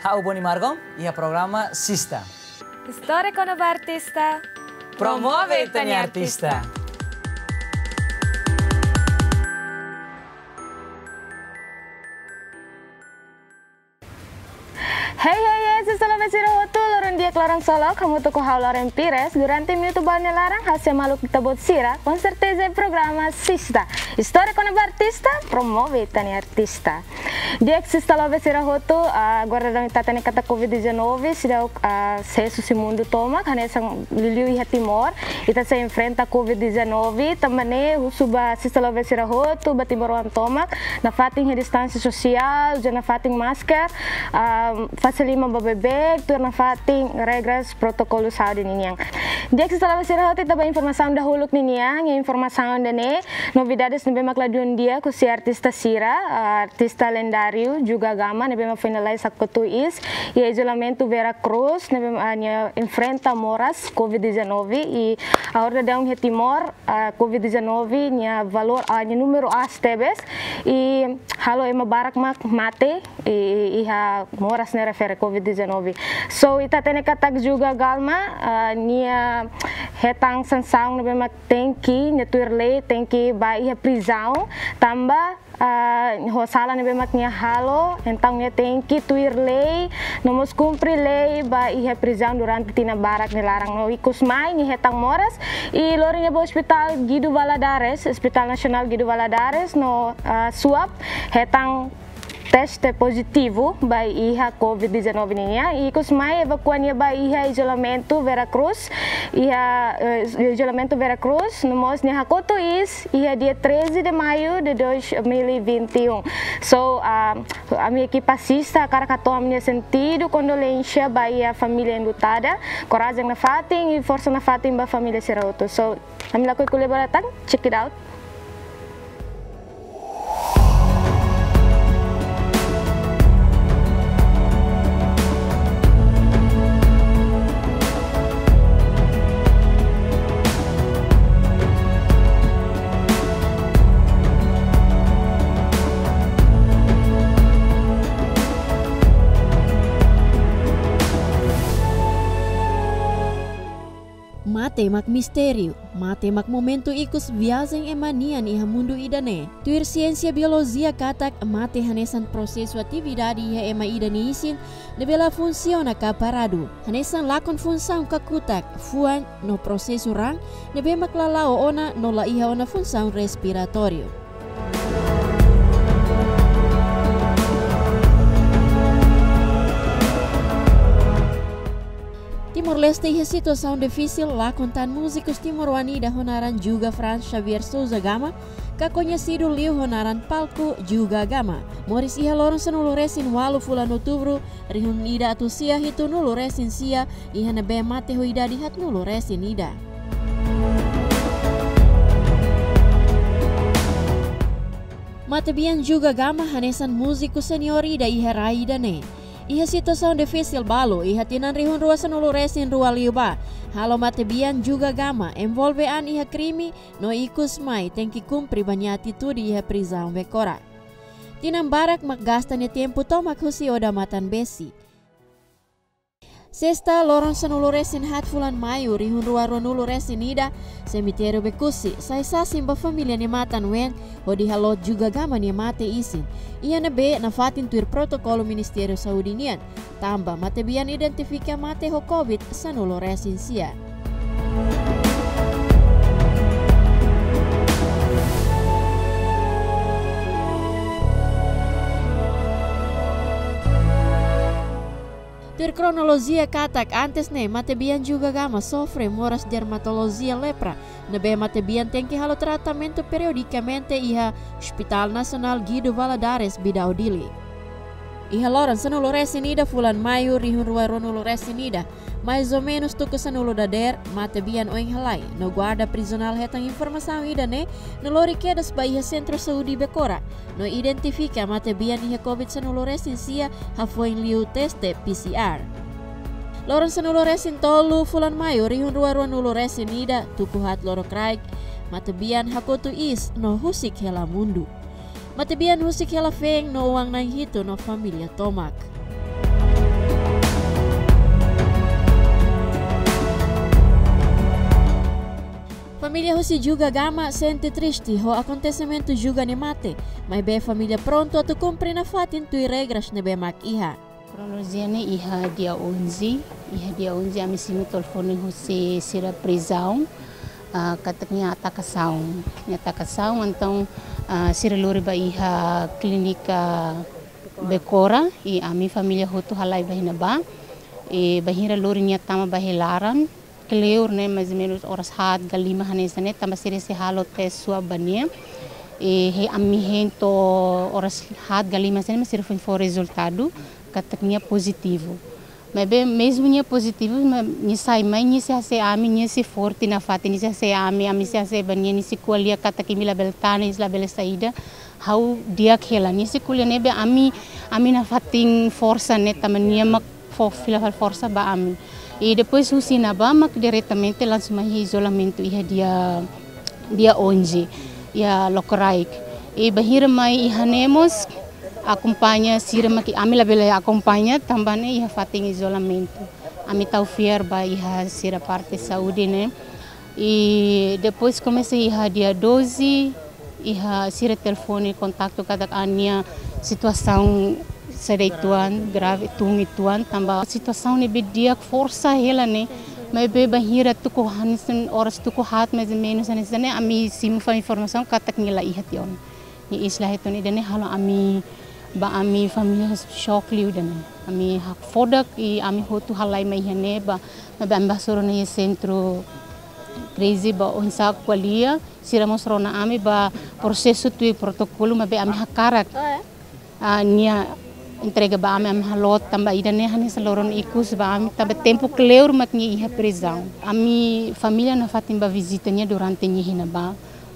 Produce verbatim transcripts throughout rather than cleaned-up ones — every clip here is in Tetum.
Ha'u Boni Margom, iha programa Sista. Istória kona-ba artista. Promove ita-nia artista. Hei, hei, hei, sista lovers sira hotu, loron di'ak, loron solok, hamutuk ho ha'u Loren Pires. Durante minutu ba nia laran, ha'u sei hamaluk ita-boot sira, ho serteza, programa Sista. Istória kona-ba artista, promove ita-nia artista. Di'ak, sista lovers sira hotu, ah, agora daudaun ita hatene katak covid dezanove seidauk, ah, sees husi mundu tomak, hanesan liuliu iha Timor, ita sei enfrenta covid dezanove, tanba ne'e husu ba sista lovers sira hotu, ba timoroan tomak, nafatin iha distánsia sosiál, uza nafatin masker, ah, fase liman ba beibeik, tuir nafatin regras protokolu saúde ninian. Di'ak, sista lovers sira hotu, ita ba informasaun dahuluk ninian, iha informasaun ida-ne'e, novidades ne'ebé mak ladún di'ak husi artista sira, ah, artista lendáriu Juga Gama, ne'ebé mak foin lalais hakotu iis iha izolamentu Vera Cruz, ne'ebé mak, ah, nia enfrenta moras covid dezanove, i agora daudaun iha Timor, ah, covid dezanove nia valór, ah, nia númeru aas tebes, i halo ema barak mak mate, i, i, iha moras ne'e refere covid dezanove. So, ita hatene katak Juga Gama, ah, nia hetan sansaun ne'ebé mak tenke, nia tuir lei, tenke ba iha prizaun, tanba, ah, ho sala ne'ebé mak nia halo, entaun nia tenke tuir lei, no mós kumpre lei ba iha prizaun durante tinan barak nia laran. No ikus mai nia hetan moras, i lori nia ba Hospital Guido Valadares, Hospital Nasionál Guido Valadares, no, ah, swab, hetan teste pozitivu ba iha covid dezanove nian. I ikus mai evakua nia ba iha izolamentu Vera Cruz, iha, eh, izolamentu Vera Cruz, no mós nia hakotu iis iha dia treze de maio de dois mil e vinte e um. So, ah, ami ekipa Sista hakarak hato'o ami-nia sentidu kondolénsia ba iha família enlutada, korajen nafatin i forsa nafatin ba família sira hotu. So, ami lakohi ko'alia ba ita tan, check it out. Mate mak mistériu, mate mak momentu ikus viajen ema nian iha mundu ida-ne'e. Tuir siénsia biolojia katak mate hanesan prosesu atividade iha ema ida nia isin ne'ebé la funsiona ka paradu. Hanesan lakon funsaun kakutak, fuan no prosesu raan ne'ebé mak la la'o ona no la iha ona funsaun respiratóriu. Timor-Leste iha situasaun difisil, lakon tan múzikus timoroan ida ho naran Juga Franz Xavier Sousa Gama, ka koñesidu liu ho naran palku Juga Gama, moris iha loron sanulu-resin-ualu fulan Outubru, rihun ida atus sia hitunulu-resin-sia, iha ne'ebé mate ho idade haatnulu-resin ida. Matebian Juga Gama hanesan múziku seniór ida iha rai ida-ne'e. Iha situasaun difisil balu, iha tinan rihun rua sanulu-resin-rua liubá, halo matebian Juga Gama envolve an iha krime, no ikus mai tenke kumpre ba nia atitude iha prizaun Becora. Tinan barak mak gasta nia tempu tomak husi odamatan-besi. Sesta, loron sanulu-resin-haat fulan Maiu, rihun rua ruanulu-resin-ida, semitériu Becusse sai sasin ba família nia matan-ween, hodi halo Juga Gama nia mate isin, iha ne'ebé nafatin tuir protokolu Ministériu Saúde nian, tanba matebian identifika mate ho covid sanulu-resin-sia. Tuir kronolojia katak antes ne'e matebian Juga Gama sofre moras dermatolojia lepra, ne'ebé matebian tenke halo tratamentu periodikamente iha Hospital Nasionál Guido Valadares, Bidau, Dili. Iha loron sanulu-resin-ida fulan Maiu, rihun rua ruanulu-resin-ida, mais ou menus tuku sanulu dadeer, matebian oin halai, no guarda prizionál hetan informasaun ida-ne'e, no lori kedas ba iha Sentru Saúde Becora, no identifika matebian iha covid sanulu-resin-sia hafoin liu teste P C R. Loron sanulu-resin-tolu fulan Maiu, rihun rua ruanulu-resin-ida, tuku haat lorokraik, matebian hakotu iis no husik hela mundu. Matebian husik hela feen no oan na'in-hitu no família tomak. Família husi Juga Gama sente triste ho akontesimentu Juga nia mate, maibé família prontu atu kumpre nafatin tuir regras ne'ebé mak iha. Kronolojia ne'e iha dia onze, iha dia onze ami simu telefone husi sira prizaun, ah, katak nia atakasaun, nia atakasaun, entaun, ah, sira lori ba iha klínika Becora, i ami família hotu halai ba iha ne'ebá, i bainhira lori nia tama ba iha laran, kleur ne'e, mais ou menus oras haat ka lima hanesan ne'e, tanba sira sei halo tes swab ba nia. I he ami hein to'o oras haat ka lima hanesan ne'e, mak sira foin fó rezultadu katak nia pozitivu. Maibé mezmu nia pozitivu, ma nia sai mai, nia sei hase'e ami, nia sei forte nafatin, nia sei hase'e ami, ami sei hase'e ba nia, nia sei ko'alia katak imi labele tane, imi labele saida. Ha'u di'ak hela, nia sei ko'alia ne'ebé ami, ami nafatin forsa ne'e tanba nia mak fó fila fali forsa ba ami. I depois husi ne'ebá mak diretamente langsung mai iha izolamentu iha dia, dia onze, iha Lokraik. I bainhira mai iha ne'e mós akompaña sira mak ami labele akompaña tanba ne'e iha fatin izolamentu. Ami tau fiar ba iha sira parte saúde ne'e. I depois komesa iha dia doze, iha sira telefone kontaktu katak nia situasaun sei de'it uitoan, grave, tun uitoan, tanba situasaun ne'ebé di'ak forsa hela ne'e, maibé bainhira tuku hanesan oras tuku haat mais ou menus hanesan ne'e, ami simu fali informasaun katak nia la iha tiha ona. Nia iis la iha tiha ona, ida-ne'e halo ami, ba ami família xok liu ida-ne'e. Ami hakfodak i ami hotu halai mai iha ne'ebá, maibé ami bá hasoru ona iha sentru krize ba oinsá ko'alia, sira mós rona ami ba prosesu tuir protokolu, maibé ami hakarak, ah, nia entrega ba ami, ami haloot tanba ida-ne'e hanesan loron ikus ba ami, tanba tempu kleur mak nia iha prizaun. Ami família nafatin bá vizita nia durante nia iha ne'ebá,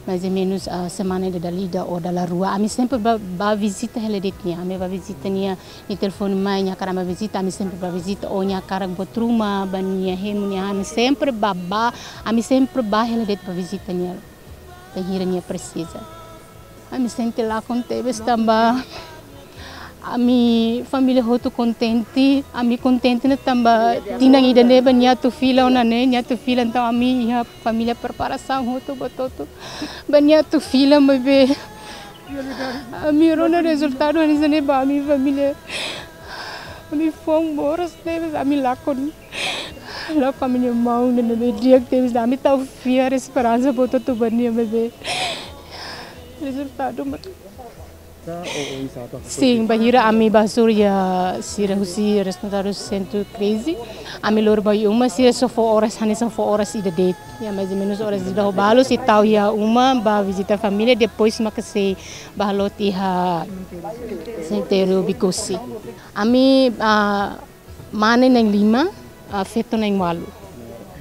mais ou menus, ah, semana ida dala ida ou dala rua. Ami sempre bá, bá vizita hela de'it nia, ami bá vizita nia, nia telefone mai, nia hakarak bá vizita, ami sempre bá vizita, ou nia hakarak buat ruma ba nia hemu, nia, ami sempre bá, bá, ami sempre bá hela de'it bá vizita nia bainhira nia presiza. Ami sente lakon tebes tanba ami família hotu kontente, ami kontente ona tanba tinan ida-ne'e ba nia atu fila ona ne'e, nia atu fila, entaun ami iha família preparasaun hotu buat hotu ba nia atu fila, maibé ami rona rezultadu hanesan ne'e ba ami família, ami foun moras tebes, ami lakon, lakon ami-nia maun ne'ebé di'ak tebes, ami tau fiar, esperansa buat hotu ba nia, maibé rezultadu mak. Sin, bainhira ami bá hasoru iha sira husi responsavel sentru krize, ami lori ba iha uma, sira só fó oras, hanesan fó oras ida de'it. Ya, mais ou menus oras ida ho balu, sei tau iha uma, bá vizita família, depois mak sei bá haloot iha semitériu Bikusi. Ami, ah, mane na'in lima, ah, feto na'in ualu.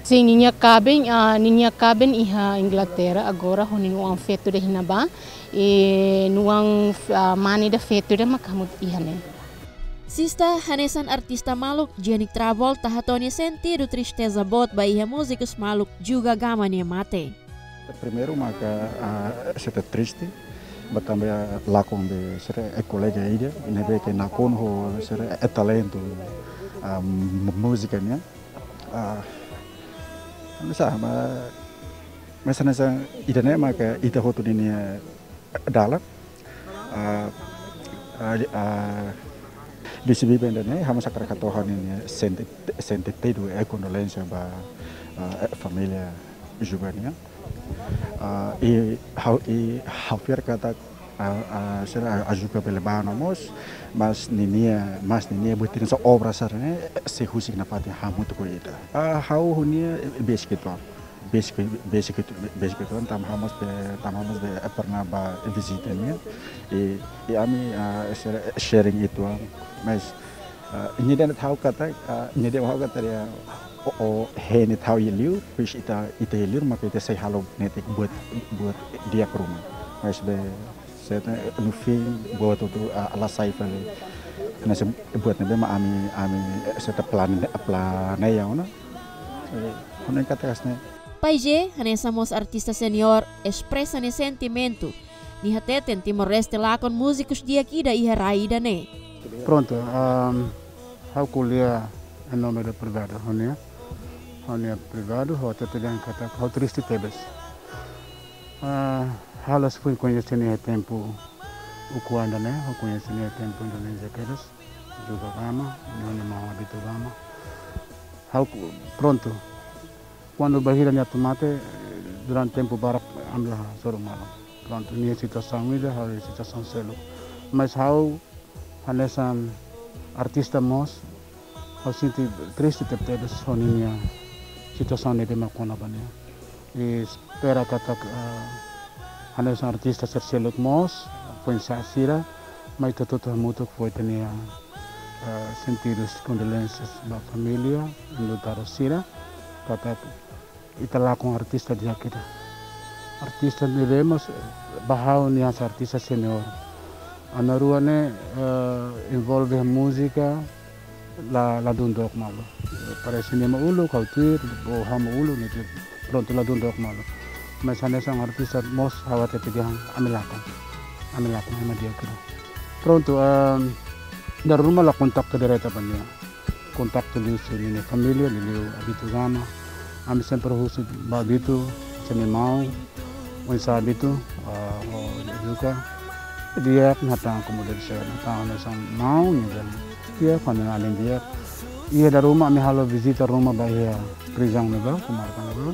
Sin, ninia kaben, ah, ninia kaben iha Inglaterra agora, ho ninia oan feto ida iha ne'ebá. I nia oan, ah, mane ida feto ida mak hamutuk iha ne'e. Sista, hanesan artista maluk, Jenny Travolta hato'o nia sentidu tristeza boot ba iha múzikus maluk Juga Gama nia mate. Primeiru maka, ah, sente triste, ba tanba lakon be sira-nia kolega ida, ne'ebé ke nakonu ho sira-nia talentu, ah, m-, múzika nian. Ah, hanesan, ma, mas hanesan ida-ne'e maka ita hotu ninia dalan. Ah, ah, ah, husi biban ida-ne'e, ha'u mós hakarak hato'o ha'u-nia senti-, sentidu, eh, kondolénsia ba, ah, eh, família Juga nian. Ah, i ha'u, i ha'u fiar katak, ah, ah, sira, ah, Juga bele bá ona mós, mas ninia, mas ninia buat ida hanesan obra sira-ne'e, sei husik nafatin hamutuk ho ita. Ah, ha'u ho nia, eh, besik uitoan. Besik, besik, besik uitoan, tanba ha'u mós be, tanba ha'u mós be, eh, pernah bá vizita nia. I, i ami, ah, sira, sharing uitoan. Mas, ah, nia dehan ha'u katak, ah, nia dehan ha'u katak ya, o, o, hein ita iha li'ur, pois ita, ita iha li'ur, maka ita sei halo netik buat, buat di'ak ruma. Mas be, seta no fim, buat hotu, ah, la sai fali. Hanesan buat ne'ebé mak ami, ami, eh, seta plan, planeia ona. Eh, ha'u hanoin katak hanesan ne'e. Pai J, hanesan mós artista seniór, espresa nia sentimentu. Nia hateten Timor-Leste lakon múzikus di'ak ida iha rai ida-ne'e. Prontu, ahm, ha'u ko'alia em nome do privadu, ha'u-nia, ha'u-nia privadu, ha'u hatete dehan katak ha'u triste tebes. Ah, ha'u la sei foin koñese nia iha tempu ukun ida ne'e, ha'u koñese nia iha tempu Indonézia kedas, Juga Gama, nia maun Abitu Gama. Ha'u ku-, prontu. Kuandu bainhira nia atu mate, durante tempu barak ami la hasoru malu. Prontu, nia situasaun ida, ha'u iha situasaun seluk. Mas ha'u hanesan artista mós, ha'u sente triste tebetebes ho ninia situasaun ne'ebé mak kona ba nia. I espera katak, eh, hanesan artista sira seluk mós, foin-sa'e sira, mai ita hotu hamutuk fó ita-nia, eh, sentidus kondolensas ba família, enlutadu sira, katak ita lakon artista di'ak ida. Artista ne'ebé mós, eh, ba ha'u nia hanesan artista senior. Ami na'in-rua ne'e, eh, envolve múzika, la, ladún dook malu. Parese nia mak uluk, ha'u tuir, ou ha'u mak uluk, nia tuir. Prontu, ladún dook malu. Mas hanesan artista mós ha'u hatete dehan, ami lakon. Ami lakon, ema di'ak ida. Prontu, ehm, dala ruma la kontaktu direta ba nia. Kontaktu liuhusi ninia família, liuliu Abitu Gama. Ami sempre husu ba Abitu, sira-nia maun, oinsá Abitu, ah, ho Juga. Di'ak, hatán komu deve ser, hatán hanesan maun, nia dehan di'ak, hanesan alin di'ak. Iha dala ruma ami halo vizita ruma ba iha prizaun ne'ebá, komarka ne'ebá.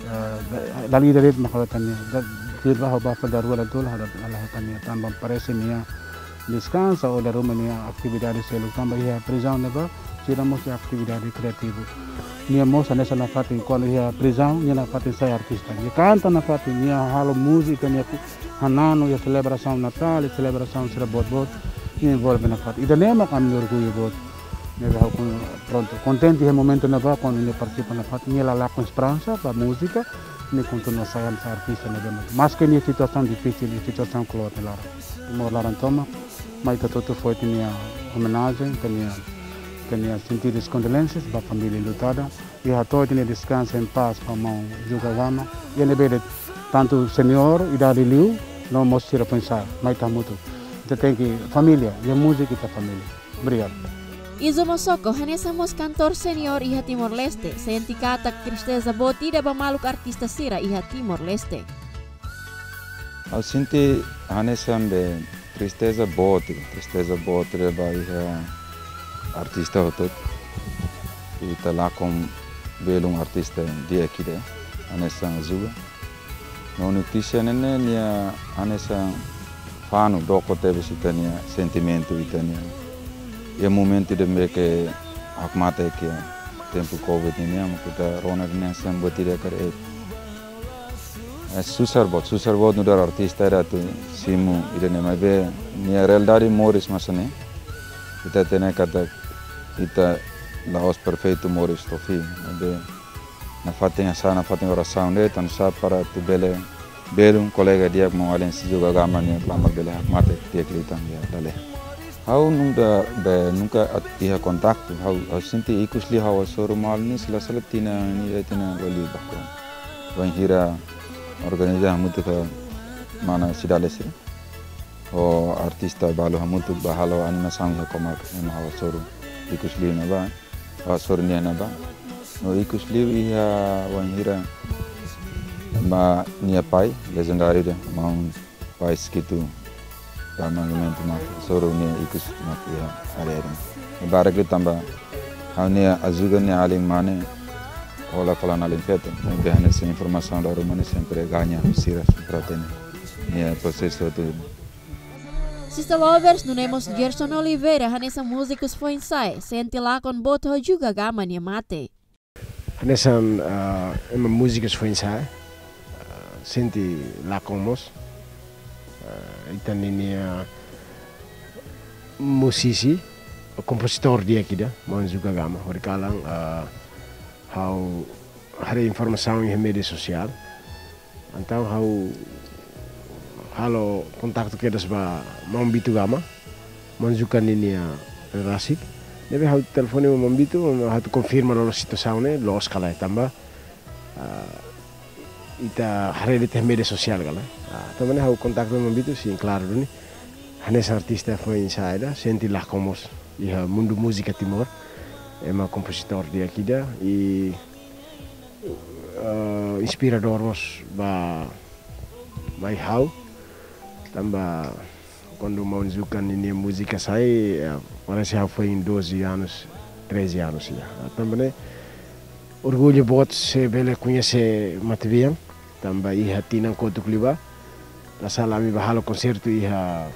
Eh, da-, dala ida de'it mak ha'u hatán nia. Da-, tuir ba ha'u bá fali dala rua dala tolu, ha'u la, la hatán nia, tanba parese nia deskansa ou dala ruma nia atividade seluk, tanba iha prizaun ne'ebá sira mós iha atividade kreativu. Nia mós hanesan nafatin, kuandu iha prizaun, nia nafatin sai artista. Nia kanta nafatin, nia halo múzika, nia ku-, hananu iha selebrasaun Natál, selebrasaun sira boot-boot, nia envolve nafatin. Ida-ne'e mak ami orgullu boot. Ne'ebé ha'u kon-, prontu, kontente iha momentu ne'ebá, kuandu nia partisipa nafatin, nia la lakon esperansa ba múzika, nia kontinua sai hanesan artista ne'ebé mak. Maske nia situasaun difisil, nia situasaun kloot nia laran. Timor laran tomak, mai ita hotu fó ita-nia omenajen, ita-nia, ita-nia sentidus kondolensas ba família enlutada, i hato'o ita-nia deskansa em paz ba maun Juga Gama, i ne'ebé de'it tantu senior, idade liu, no mós sira foin-sa'e, mai ita hamutuk. Ita tenke família, iha múzika ita família. Obrigadu. Izo Mosoko, hanesan mós kantór senior iha Timor-Leste, sente katak tristeza boot ida ba maluk artista sira iha Timor-Leste. Ha'u sente hanesan be tristeza boot, tristeza boot ida ba iha artista hotu. Ita lakon belun artista di'ak ida, hanesan Juga. No notísia ne'e ne'e nia hanesan fanu, doko tebes ita-nia sentimentu, ita-nia. Iha momentu ida ne'ebé ke hakmatek iha tempu covid ne'e nian, mak ita rona dehan hanesan buat ida karik, eh, susar boot, susar boot nu'udar artista ida atu simu ida-ne'e, maibé nia realidade moris mak hanesan ne'e. Ita hatene katak ita la'ós perfeitu moris to'o fim, maibé nafatin hasa'e, nafatin orasaun de'it, tanba sá, para atu bele belun kolega di'ak, maun-alin sira Juga Gama nian, klamar bele hakmatek di'ak liután iha dala. Ha'u nunka be, nunka at-, iha kontaktu, ha'u, ha'u sente ikus liu ha'u hasoru malu nia, sila sala tinan ida, tinan lima liubá. Wainhira organiza hamutuk ho mana Sidale sira, ho artista balu hamutuk bá halo animasaun iha komarka, ema ha'u hasoru ikus liu ne'ebá, hasoru nia ne'ebá. No ikus liu iha wainhira mak nia pai, lejendáriu ida, maun Pais Kitu, ba monumentu mak hasoru nia ikus mak iha área ne'e. Barak liu tanba ha'u-nia, Juga nia alin mane, hola fali alin feto, maibé hanesan informasaun dala ruma ne'e sempre gaña husi sira, sempre hatene nia prosesu hotu. Sista Lovers, nune'e mós Gerson Oliveira, hanesan múzikus foin-sa'e, sente lakon boot ho Juga Gama nia mate. Hanesan, ah, ema múzikus foin-sa'e, ah, sente lakon mós. Ah, ita ninia musisi, kompozitór di'ak ida, maun Juga Gama, horikalan, ah, ha'u haree informasaun iha média sosiál. Entaun ha'u halo kontaktu kedas ba maun Bitu Gama, maun Juga ninia rerasik. Ne'ebé ha'u telefone maun Bitu, ha'u atu konfirma loloos situasaun ne'e, loos ka lae tanba, ah, ita haree de'it iha média sosiál ka lae. Ah, tanba ne'e ha'u kontaktu maun Bitu, sin, klaru duni. Hanesan artista foin-sa'e ida, sente lakon mós iha mundu múzika Timor. Ema kompozitór di'ak ida, i eh, inspiradór mós ba Mai ha'u, tanba kuandu maun Zuka ninia múzika sai, eh, parese ha'u foin doze anos, treze anos ya. Tanba ne'e, orgullu boot se bele koñese Matebian, tanba iha tinan kotuk liubá, la sala ami bá halo konsertu iha,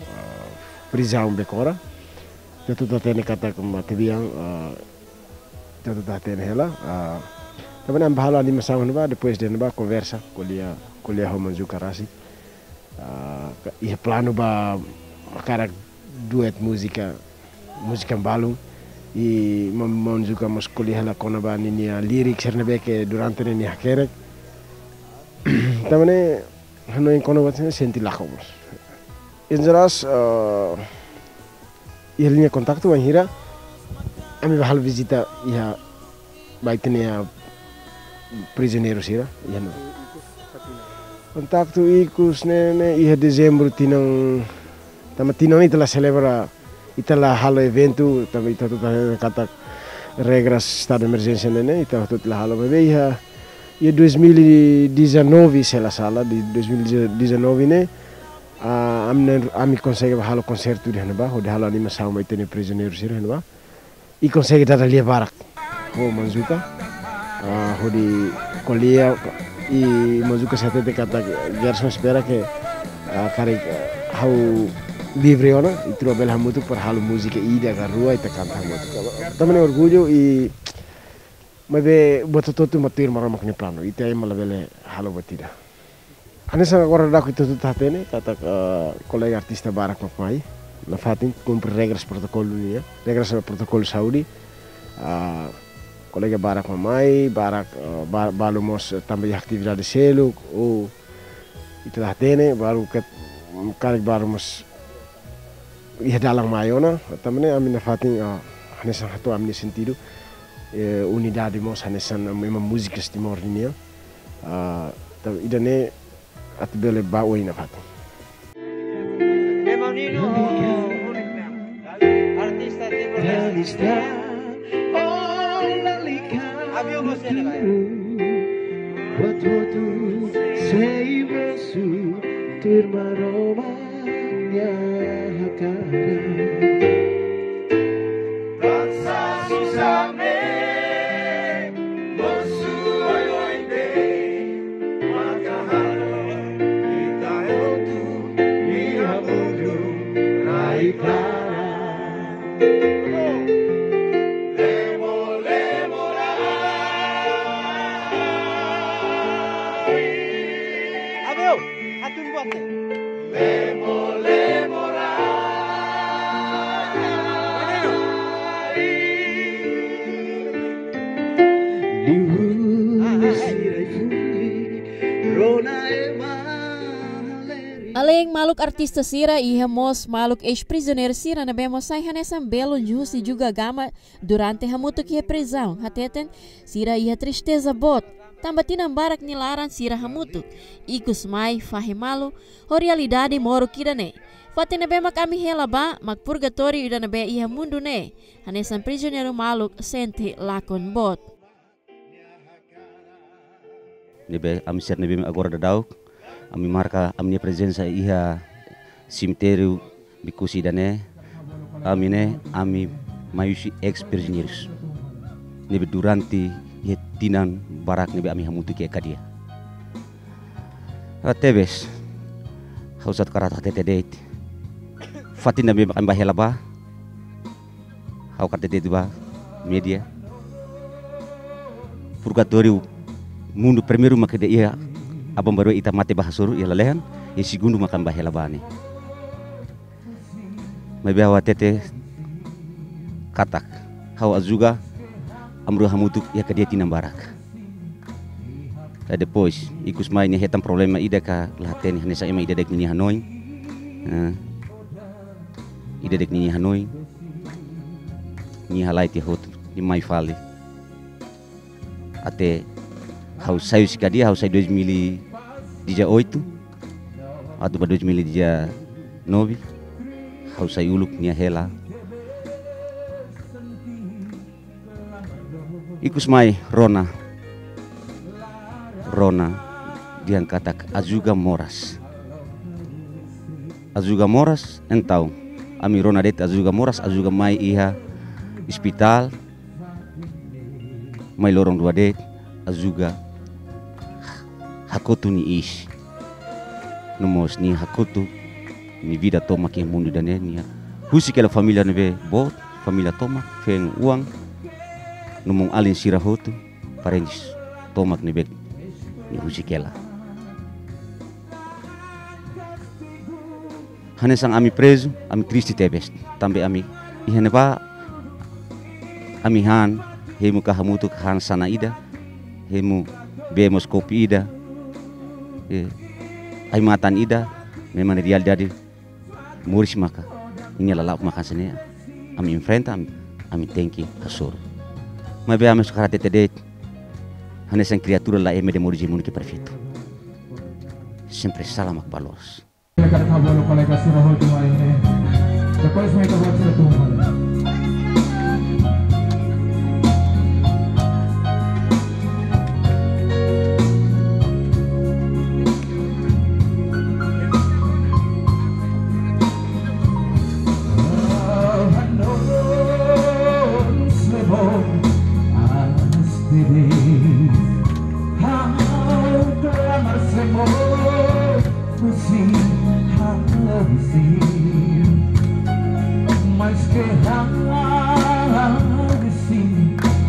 eh, prizaun Becora. Ita hotu hatene katak Matebian, eh, ita hotu hatene hela, eh, tanba ne'e ami bá halo animasaun ne'ebá, depois de ne'ebá konversa, ko'alia, ko'alia ho maun Zuka rasik. Ah, ka-, iha planu bá hakarak duet múzika, múzika balun. I maun, maun Zuka mós ko'alia hela kona-ba ninia lirik sira ne'ebé ke durante ne'e nia hakerek. Tanba ne'e hanoin kona-ba sente lakon mós. Em jeral, ah, iha liña kontaktu wainhira ami bá halo vizita iha ba ita-nia prizioneiru sira, iha ne'e. Kontaktu ikus ne'e, ne'e iha dezembru tinan, tanba tinan ita la selebra, ita la halo eventu, tanba ita hotu hatene katak regras estadu de emerjénsia ne'e, ne'e ita hotu la halo, maibé iha, iha dois mil e dezanove, se la sala, di dois mil e dezanove ne'e, ah, ami ne'e, ami konsege bá halo konsertu iha ne'ebá, hodi halo animasaun ba ita-nia prizioneiru sira iha ne'ebá. I konsege dada lia barak ho maun Zuka. Ah, hodi ko'alia, i maun Zuka sei hatete katak Gerson espera ke, ah, karik, ah, ha'u livre ona, ita rua bele hamutuk para halo múzika ida ka rua ita kanta hamutuk. Tanba ne'e orgullu i maibé buat hotu-hotu mak tuir Maromak nia planu. Ita ema labele halo buat ida. Hanesan agora daudauk ita hotu hatene, katak, eh, kolega artista barak mak mai. Nafatin kumpre regras protokolu nian, regras protokolu saúde. Ah, kolega barak mak mai, barak, eh, ba-, balu mós, eh, tanba iha atividade seluk, ou ita la hatene, balu ke, karik balu mós iha dalan mai ona, tanba ne'e ami nafatin, ah, hanesan hato'o ami-nia sentidu, eh, unidade mós hanesan ema múzikus Timor nian. Ah, ta-, ida-ne'e atu bele bá oin nafatin. Ema Nino, artista Timor-Leste. Avion mós ne'e, vai. Buat hotu sei mosu tuir Maromak nia hakarak. Dansa susame, mosu oioin de'it, maka halo ita hotu iha mundu rai klaran. Lemo, lemo rai. Abeu, hatun buat ne'e. Lemo, lemo rai. Liuhusi rai-fulik, rona ema halerik. Além maluk artista sira, iha mós maluk eis-prizioneiru sira ne'ebé mós sai hanesan belun husi Juga Gama durante hamutuk iha prizaun, hateten sira iha tristeza boot, tanba tinan barak nia laran sira hamutuk, ikus mai fahe malu ho realidade moruk ida-ne'e. Fatin ne'ebé mak ami hela bá, mak purgatóriu ida ne'ebé iha mundu ne'e, hanesan prizioneiru maluk sente lakon boot. Ne'ebé ami sira ne'ebé agora daudauk, ami marka ami-nia prezensa iha semitériu Bekusi ida-ne'e, ami ne'e, ami mai husi eis-prizioneirus ne'ebé durante iha tinan barak ne'ebé ami hamutuk iha kadeia. Ah, tebes, ha'u satu karata hatete de'it. Fatin ne'ebé ami bá hela bá, ha'u karta de'it ba média. Purgatóriu mundu primeiru mak ida iha aban-bainrua ita mate bá hasoru iha lalehan, i segundu mak ami bá hela bá ne'e. Maibé ha'u hatete katak, ha'u ho Juga, ami rua hamutuk iha kadeia tinan barak. I depois, ikus mai nia hetan problema ida ka la hatene hanesan ema ida de'it ninia hanoin. Eh, ida de'it ninia hanoin. Nia halai tiha hotu, nia mai fali. Até ha'u sai husi kadeia, ha'u sai dois mil e dezoito, atu ba dois mil e dezanove, ha'u sai uluk nia hela. Ikus mai rona. Rona. dehan katak Azuga moras. Azuga moras, entaun ami rona de'it Azuga moras, Azuga mai iha ospitál, mai loron rua de'it Azuga hakotu nia iis. No mós nia hakotu nia vida tomak iha mundu ida-ne'e, nia husik hela família ne'ebé boot, família tomak, feen, oan, no mós alin sira hotu, parentes tomak ne'ebé nia husik hela. Hanesan ami prezu, ami triste tebes. Tanba ami iha ne'ebá, ami han, hemu ka hamutuk han sana ida, hemu bee mós kopu ida, eh, ai-matan ida, memang realidade moris maka, nia la la'o maka hanesan ne'e, ami enfrenta, ami, ami tenke hasoru. Maibé ami hakarak hatete de'it, hanesan kriatura la ema ida moris iha mundu ke perfeitu. Sempre sala mak ba loos. Depois mai ita-boot sira tun. Mas ke hal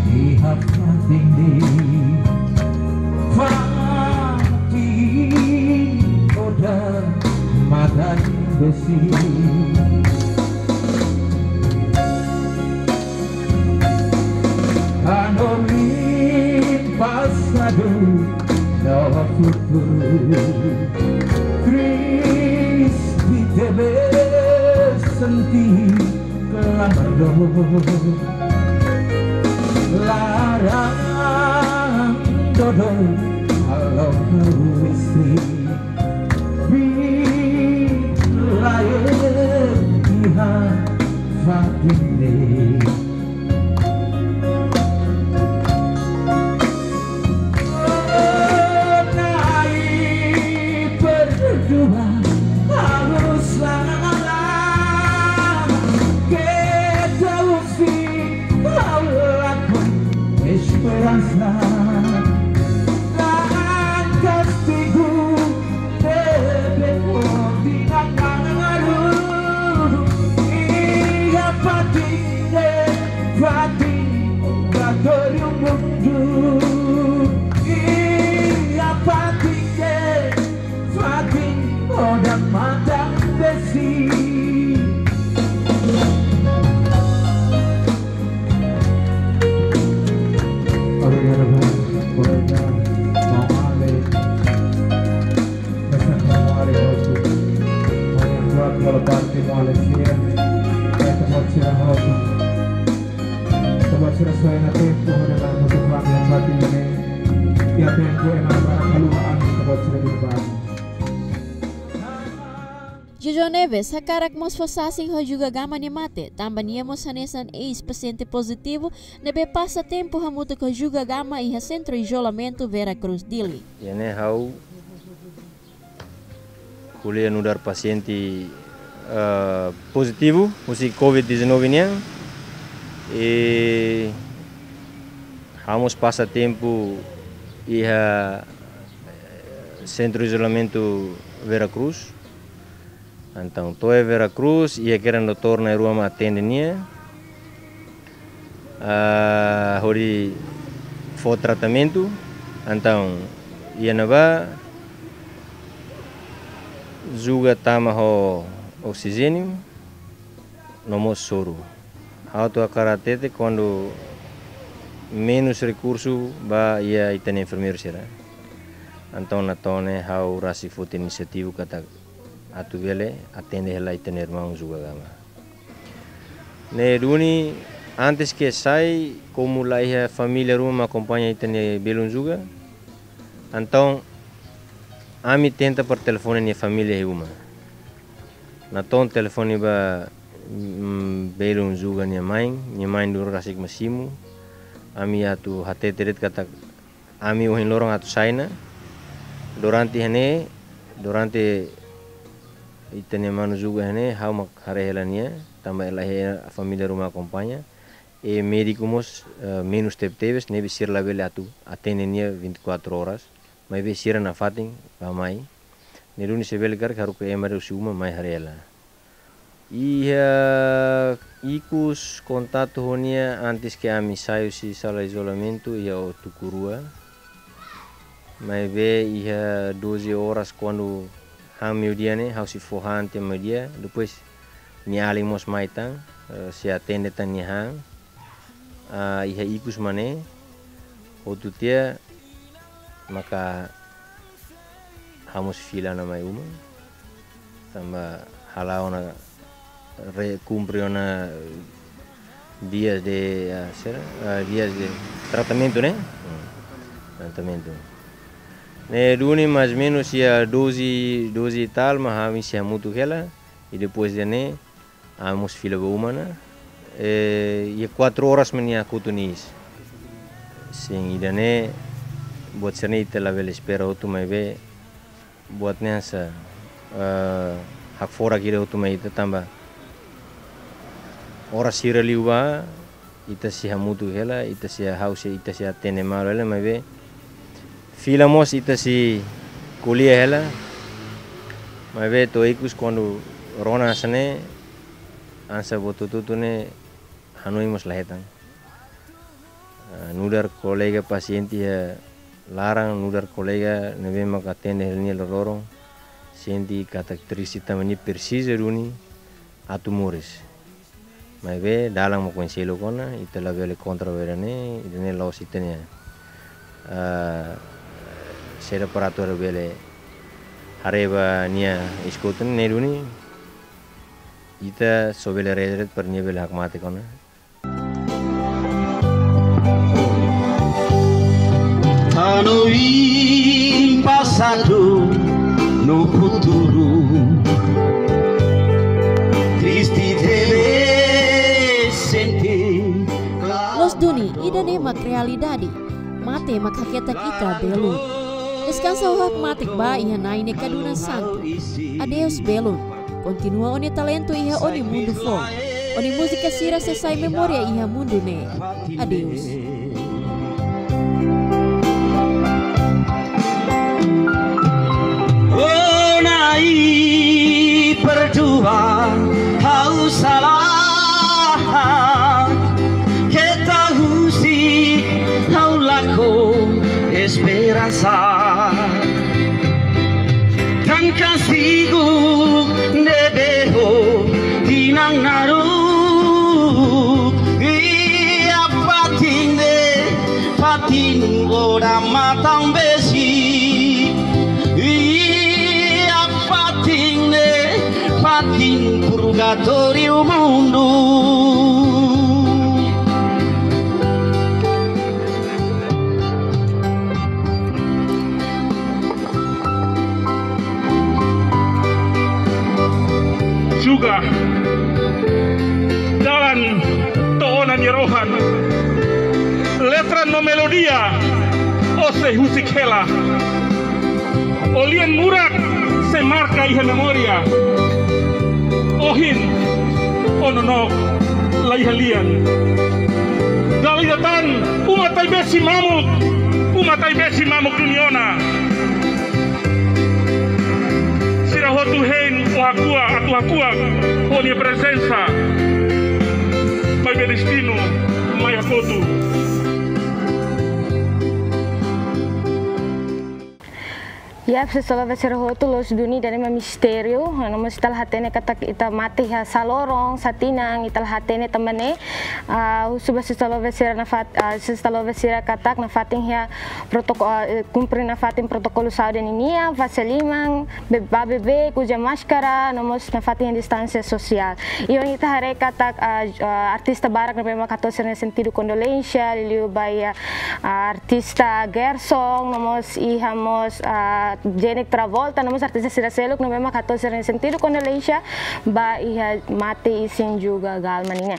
iha fatin de'it, fatin odamatan besik. Hanorin pasadu no futuru. Triste tebes sente klamar dor. Laran dodou halo hau isi. Bila iha fatin de'it. Na'i berdua harus lama. Kita usik halaku esperansa. Langkah tigu bebek poti nangaru. Iha fatin de'it, fatin batoriu mundu. Iha fatin de'it, fatin odamatan besik. Obrigadu, kolega. Maun Malik. Mesak Maun Malik hotu. Maun yang kuat kalau parti Maun Malik sira. Ita-boot sira hotu. Ita-boot sira suai ona tempu, hodi la'o hotu kami yang mati ini. Ya tempu ema barak haluha ami ita-boot sira di baru. Jojo Neves hakarak mós fó sasin ho Juga Gama nia mate, tanba nia mós hanesan eis pasiente pozitivu ne'ebé pasa tempu hamutuk ho Juga Gama iha Sentru Izolamentu Vera Cruz, Dili. Iha ne'e ha'u ko'alia nu'udar pasiente, eh, pozitivu husi covid dezanove nian. I ha'u mós pasa tempu iha Sentru Izolamentu Vera Cruz. Entaun, to'o iha Vera Cruz, iha kedan doutór na'in-rua mak atende nia, ah, hodi fó tratamentu. Entaun, iha ne'ebá, Juga tama ho oksijéniu, no mós soru. Ha'u atu hakarak hatete kuandu menus rekursu ba iha ita-nia enfermeiru sira. Entaun, natoon ne'e ha'u rasik foti inisiativa katak atu bele atende hela ita-nia irmaun Juga Gama. Ne'e duni, antes ke sai, komu la iha família ruma akompaña ita-nia belun Juga, entaun ami tenta para telefone nia família iha uma. Natoon telefone ba, mm, belun Juga nia main, nia main duni rasik mak simu. Ami atu hatete de'it katak ami ohin loron atu sai ona. Durante iha ne'e, durante ita-nia manu juga iha ne'e, ha'u mak haree hela nia, tanba la iha família ruma akompaña. E médiku mós, eh, menus tebetebes, ne'ebé sira labele atu atende nia vinte e quatro horas. Maibé sira nafatin bá mai. Ne'e duni se bele karik haruka ema husi uma mai haree hela. Iha ikus kontaktu ho nia antes ke ami sai husi sala izolamentu iha Otukurua. Maibé iha doze horas kuandu han meiudia ne'e, ha'u sei fó han tiha meiudia, depois nia alin mós mai tan, eh, sei atende tan nia han. Ah, iha ikus mak ne'e, hotu tiha maka ha'u mós fila ona mai uma. Tanba hala'o ona re-, kumpre ona dias de, ah, sera, ah, dias de tratamentu, ne'e? Hmm. Tratamentu. Ne'e duni mais menus iha doze, doze e tal, mak ami sei hamutuk hela, i depois de ne'e, ami mós fila ba uma ona, eh, iha quatro horas mak nia kotu nia iis. Sin, ida-ne'e, buat sira-ne'e ita labele espera hotu maibé, buat ne'e hanesan, eh, hakfodak ida hotu mai ita tanba oras sira liubá, ita sei hamutuk hela, ita sei ha'u sei, ita sei atende malu hela, maibé fila mós ita sei ko'alia hela, maibé to'o ikus kuandu rona hanesan ne'e, hanesan buat hotu-hotu ne'e hanoin mós la hetan. Ah, nu'udar kolega pasiente iha laran, nu'udar kolega ne'ebé maka atende hela nia loroloron, sente katak triste tanba nia presiza duni atu moris. Maibé dalan mak oin seluk ona, ita labele kontra ba ida-ne'e, ida-ne'e la'ós ita-nia, ah, saida para atu labele haree ba nia iis kotu ne'e duni, ita só bele haree de'it para nia bele hakmatek ona. Hanoin pasadu no futuru, triste tebes sente. Loos duni, ida-ne'e mak realidade. Mate mak haketak ita belun. Deskansa ho hakmatek ba iha Na'i nia kadunan santu. Adeus belun. Kontinua ó-nia talentu iha ó-nia mundu foun. Ó-nia múzika sira sei sai memória iha mundu ne'e. Adeus. Oh Na'i, perdua ha'u sala, keta husik ha'u lakon esperansa. Tan kastigu ne'ebé ho tinan naruk, iha fatin ne'e, fatin odamatan besik, iha fatin ne'e, fatin purgatóriu mundu. Juga dalan to'o ona nia rohan. Letra no melodia ó sei husik hela. Ó-nia lian murak sei marka iha memória. Ohin ó nonook la iha lian. Dala ida tan, uma Taibesi mamuk, uma Taibesi mamuk duni ona. Sira hotu hein ó hakuak, atu hakuak ó-nia prezensa. Maibé destinu mai hakotu. Ya, sesolo ba sira hotu, loos duni, ida-ne'e mak mistériu. No mós ita la hatene katak ita mate iha saloron, satinan, ita la hatene tanba ne'e. Ah, husu ba sesolo ba sira nafat-, ah, sesolo ba sira katak nafatin iha protoko-, ah, eh, kumpre nafatin protokolu saúde ninian, fase liman, be-, bá bebeik, uza máskara, no mós nafatin distánsia sosiál. I ohin ita haree katak, ah, ah, artista barak ne'ebé mak hato'o sira-nia sentidu kondolénsia, liuliu ba iha, ah, artista Gerson, no mós iha mós, ah, Jenik Travolta, no mós artista sira seluk ne'ebé mak hato'o sira-nia sentidu kondolénsia ba iha mate isin juga Galma nian.